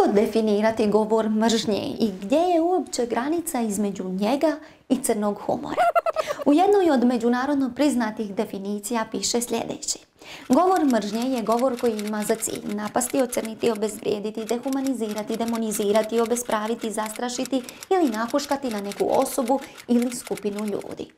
Kako definirati govor mržnje i gdje je uopće granica između njega i crnog humora? U jednoj od međunarodno priznatih definicija piše sljedeće. Govor mržnje je govor koji ima za cilj napasti, ocrniti, obezvrijediti, dehumanizirati, demonizirati, obespraviti, zastrašiti ili nahuškati na neku osobu ili skupinu ljudi.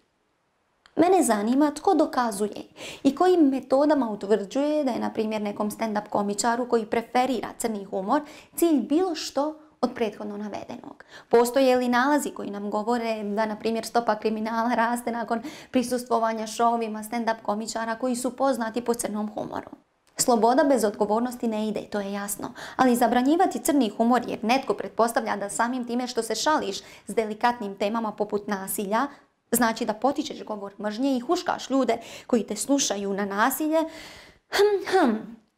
Mene zanima tko dokazuje i kojim metodama utvrđuje da je, na primjer, nekom stand-up komičaru koji preferira crni humor cilj bilo što od prethodno navedenog. Postoje li nalazi koji nam govore da, na primjer, stopa kriminala raste nakon prisustvovanja šovima stand-up komičara koji su poznati po crnom humoru? Sloboda bez odgovornosti ne ide, to je jasno, ali zabranjivati crni humor jer netko pretpostavlja da samim time što se šališ s delikatnim temama poput nasilja, znači da potičeš govor mržnje i huškaš ljude koji te slušaju na nasilje.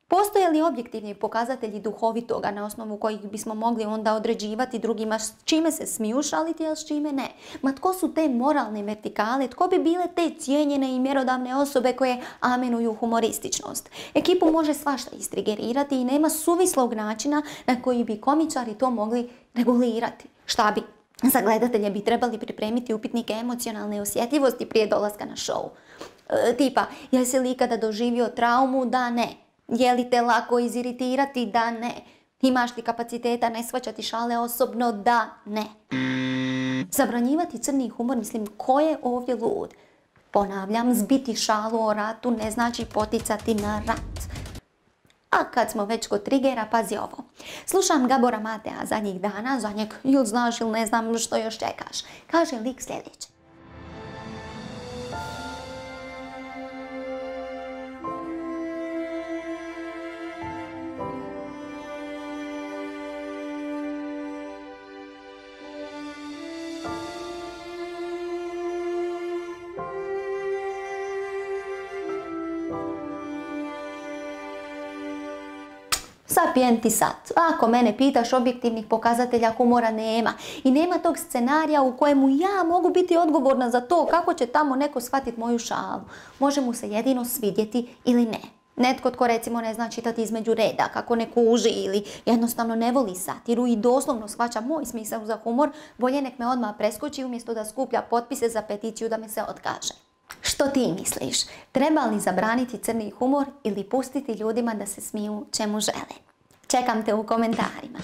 Postoje li objektivni pokazatelji duhovitoga na osnovu kojih bismo mogli onda određivati drugima s čime se smiju šaliti, a s čime ne? Ma tko su te moralne vertikale? Tko bi bile te cijenjene i mjerodavne osobe koje amenuju humorističnost? Ekipu može svašta istrigerirati i nema suvislog načina na koji bi komičari to mogli regulirati. Šta bi? Za gledatelje bi trebali pripremiti upitnike emocionalne osjetljivosti prije dolaska na show. Tipa, jesi li ikada doživio traumu? Da, ne. Je li te lako iziritirati? Da, ne. Imaš li kapaciteta ne shvaćati šale osobno? Da, ne. Zabranjivati crni humor, mislim, ko je ovdje lud? Ponavljam, zbiti šalu o ratu ne znači poticati na rat. A kad smo već kod trigera, pazi ovo. Slušam Gabora Matea zadnjih dana, za njeg ili znaš ili ne znam što još čekaš. Kaže lik sljedeće. Sapienti sat. Ako mene pitaš, objektivnih pokazatelja humora nema. I nema tog scenarija u kojemu ja mogu biti odgovorna za to kako će tamo neko shvatiti moju šalu. Može mu se jedino svidjeti ili ne. Netko tko recimo ne zna čitati između reda, kako ne kuži ili jednostavno ne voli satiru i doslovno shvaća moj smisao za humor, bolje nek me odmah preskoči umjesto da skuplja potpise za peticiju da me se otkaže. Što ti misliš? Treba li zabraniti crni humor ili pustiti ljudima da se smiju čemu žele? Čekam te u komentarima.